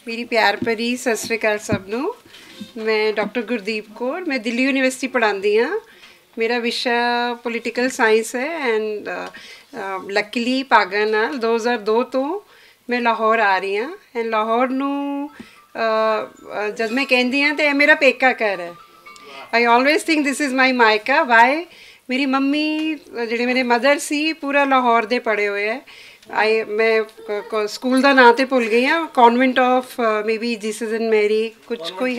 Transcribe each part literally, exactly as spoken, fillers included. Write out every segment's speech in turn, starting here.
میری پیار پری ست شری اکال سب نوں۔ میں ڈاکٹر گردیپ کور، میں دلی یونیورسٹی پڑھاندی ہاں۔ میرا وشا پولیٹیکل سائنس ہے، اینڈ لکیلی پاگا نال دو ہزار دو تو میں لاہور آ رہی ہاں۔ اینڈ لاہور نوں جد میں کہندی ہاں تے میرا پیکا گھر ہے۔ آئی آلویز تھنک دس از مائی مائیکا۔ وائی؟ میری ممی، جڑے میرے مدر سی، پورا لاہور دے پڑھے ہوئے ہیں۔ آئی میں سکول دا ناں تے بھول گئی ہاں، کانوینٹ آف مے بی جیسز اینڈ میری، کچھ کوئی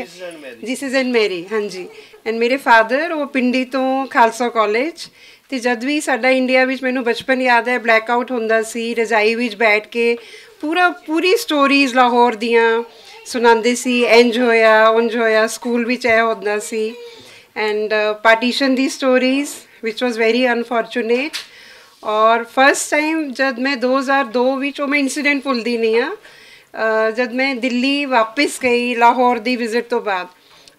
جیسز اینڈ میری، ہاں جی۔ اینڈ میرے فادر وہ پنڈی تو خالصہ کالج۔ تے جد وی ساڈا انڈیا وچ، مینوں بچپن یاد ہے، بلیک آؤٹ ہوندا سی، رضائی وچ بیٹھ کے پورا پوری سٹوریز لاہور دیاں سناندے سی، انج ہویا، انج ہویا، سکول وچ اے ہوندا سی۔ اینڈ پارٹیشن دی سٹوریز، وچ واز ویری انفارچونیٹ۔ اور فرسٹ ٹائم جد میں دو ہزار دو وچ، او میں انسیڈنٹ بھلدی نہیں ہاں، جد میں دلی واپس گئی لاہور دی وزٹ تو بعد،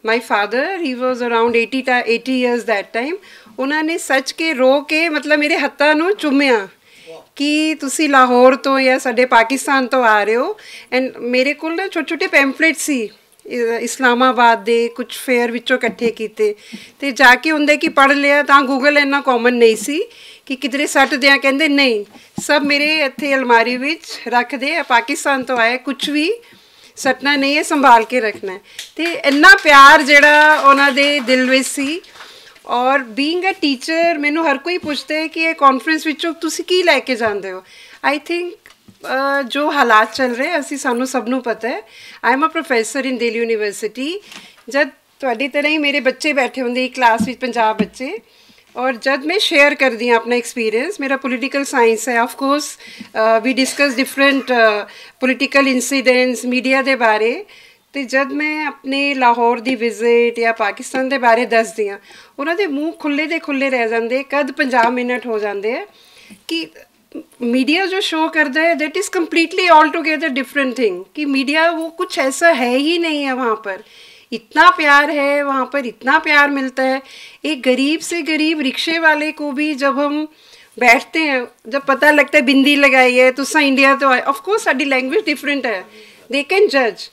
my father, he was around eighty eighty years that time, انہوں نے سچ کے رو کے، مطلب، میرے ہتھاں نوں چومیا کہ تسی لاہور تو یا ساڈے پاکستان تو آ رہے ہو۔ اینڈ میرے کول نا چھوٹے چھوٹے پیمفلٹ سی، اسلام آباد دے کچھ فیئر وچوں اکٹھے کیتے، تے جا کے اوندے کہ پڑھ لیا۔ تاں گوگل اینا کامن نہیں سی کہ کدھرے سٹ دیاں، کہندے نہیں، سب میرے اتھے الماری وچ رکھ دے، پاکستان تو آئے، کچھ وی سٹنا نہیں ہے، سنبھال کے رکھنا ہے۔ تے اینا پیار جڑا انہاں دے دل وچ سی۔ اور بینگ اے ٹیچر، مینوں ہر کوئی پوچھدا ہے کہ اے کانفرنس وچوں تسی کی لے کے جاندے ہو؟ آئی تھنک جو حالات چل رہے، اسی سانوں سب نوں پتہ ہے۔ آئی ایم اے پروفیسر ان دہلی یونیورسٹی۔ جد تہاڈی طرح ہی میرے بچے بیٹھے ہوندے ایک کلاس وچ، پنجاب بچے، اور جد میں شیئر کردی ہاں اپنا ایکسپیرینس، میرا پولیٹیکل سائنس ہے، of course we discuss different political incidents media دے بارے۔ تے جد میں اپنے لاہور دی وزٹ یا پاکستان دے بارے دسدی ہاں، انہاں دے منہ کھلے دے کھلے رہ جاندے، کد پنجاہ منٹ ہو جاندے ہیں کہ میڈیا جو شو کردا ہے، that is completely all together different thing, کہ میڈیا وہ کچھ ایسا ہے ہی نہیں ہے وہاں پر۔ اتنا پیار ہے وہاں پر، اتنا پیار ملتا ہے۔ ایک غریب سے غریب رکشے والے کو بھی جب ہم بیٹھتے ہیں، جب پتہ لگتا ہے بندی لگائی ہے، تساں انڈیا تو آئے، آف کورس ساڈی لینگویج ڈفرنٹ ہے، دے کین جج۔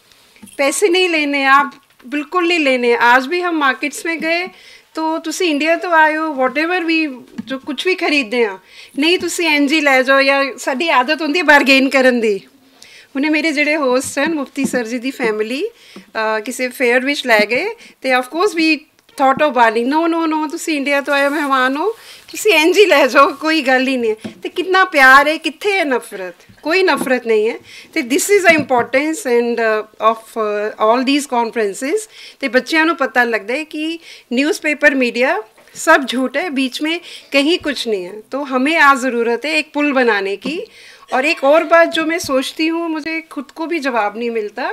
پیسے نہیں لینے آپ، بالکل نہیں لینے۔ آج بھی ہم مارکیٹس میں گئے تو تسی انڈیا تو آئے ہو، واٹ ایور وی، جو کچھ بھی خریدتے ہیں، نہیں، تسی این جی لے جاؤ، یا ساڈی عادت ہوندی ہے بارگین کرن دی۔ ہنے میرے جڑے ہوسٹ ہیں مفتی سر جی دی فیملی کسی فیئر وچ لے گئے، تے of course we thought of burning, no no no, تسی انڈیا تو آئے مہمان ہو، تسی این جی لے جاؤ، کوئی گل ہی نہیں ہے۔ تے کتنا پیار ہے، کتھے ہے نفرت؟ کوئی نفرت نہیں ہے۔ تے this is a importance and of all these conferences. تے بچیاں نوں پتہ لگدا ہے کہ نیوز پیپر میڈیا سب جھوٹ ہے، بیچ میں کہیں کچھ نہیں ہے۔ تو ہمیں آج ضرورت ہے ایک پل بنانے کی۔ اور ایک اور بات جو میں سوچتی ہوں، مجھے خود کو بھی جواب نہیں ملتا،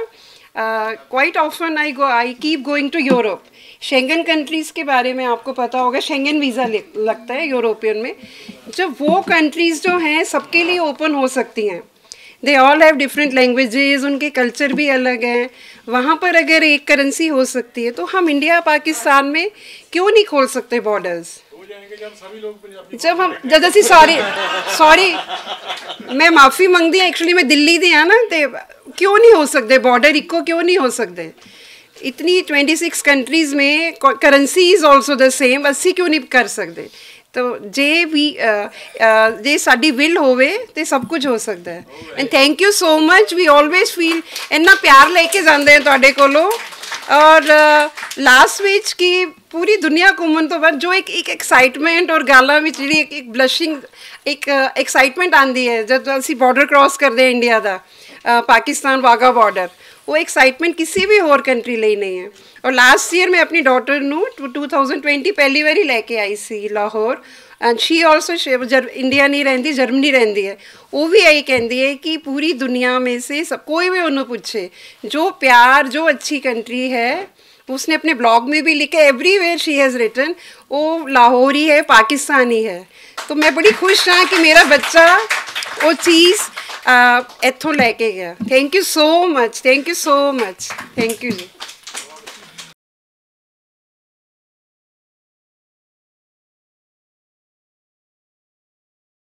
quite often I go I keep going to Europe. Schengen countries کے بارے میں آپ کو پتا ہوگا، شینگن ویزا لگتا ہے یوروپین میں۔ جب وہ کنٹریز جو ہیں سب کے لیے اوپن ہو سکتی ہیں، دے آل ہیو ڈفرنٹ لینگویجز، ان کے کلچر بھی الگ ہیں، وہاں پر اگر ایک کرنسی ہو سکتی ہے تو ہم انڈیا پاکستان میں کیوں نہیں کھول سکتے بارڈرز؟ جب ہم جد اسی سوری سوری میں معافی منگدی ہاں، ایکچولی میں دلی دی ہاں نا، تے کیوں نہیں ہو سکتے بارڈر اکو، کیوں نہیں ہو سکتے؟ اتنی ٹوئنٹی سکس کنٹریز میں currency is also the same, اسی کیوں نہیں کر سکتے؟ تو جے وی جے ساڈی ول ہووے تے سب کچھ ہو سکتا ہے۔ And thank you so much, we always feel اتنا پیار لے کے جاندے ہیں تہاڈے کولوں۔ اور لاسٹ وچ کی پوری دنیا گھومن تو بعد جو ایک ایک ایکسائٹمنٹ اور گالاں وچ جڑی ایک ایک بلشنگ، ایک ایکسائٹمنٹ آندی ہے جد اسی بارڈر کراس کردے ہیں انڈیا دا، پاکستان واگا بارڈر، وہ ایکسائٹمنٹ کسی بھی ہور کنٹری لئی نہیں ہے۔ اور لاسٹ ایئر میں اپنی ڈاٹر نوں ٹو تھاؤزنڈ ٹوئنٹی پہلی واری لے کے آئی سی Lahore, and she also, India نہیں رہندی، جرمنی رہندی ہے۔ وہ بھی یہی کہندی ہے کہ پوری دنیا میں سے سب، کوئی بھی انہوں پوچھے، جو پیار، جو اچھی کنٹری ہے، اس نے اپنے بلاگ میں بھی لکھے، every where she has written, وہ لاہوری ہے، پاکستانی ہے۔ تو میں بڑی خوش ہاں کہ میرا بچہ وہ چیز ایتھوں لے کے گیا۔ Thank you so much, thank you so much, thank you G.